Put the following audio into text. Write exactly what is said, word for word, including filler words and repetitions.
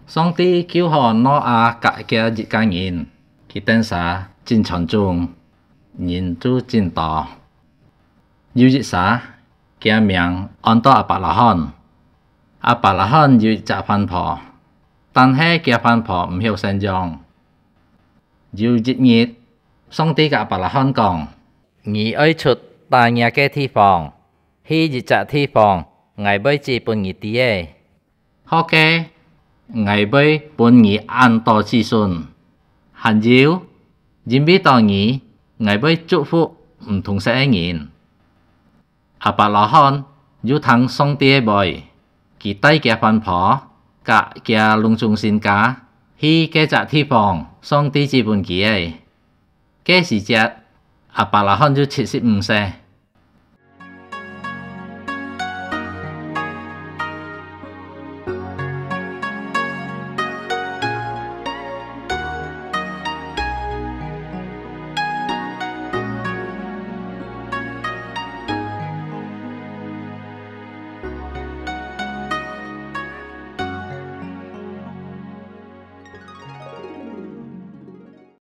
上帝救好挪亞佮佢一家人，佢等儕真傳宗，人就真多。有一儕，佢名安到亞伯拉罕。亞伯拉罕有一隻番婆，但係佢番婆毋曉生養。有一日，上帝佮亞伯拉罕講：「你愛出打若个地方，去一隻地方，𠊎會指分你知个。」好个，𠊎會分你恁多子孫。還有，因為到你，𠊎會祝福毋同色个人。亞伯拉罕有聽上帝个話，佢帶厥番婆佮厥攏總身家去該隻地方，上帝指分佢个。該時節，亞伯拉罕有七十五歲。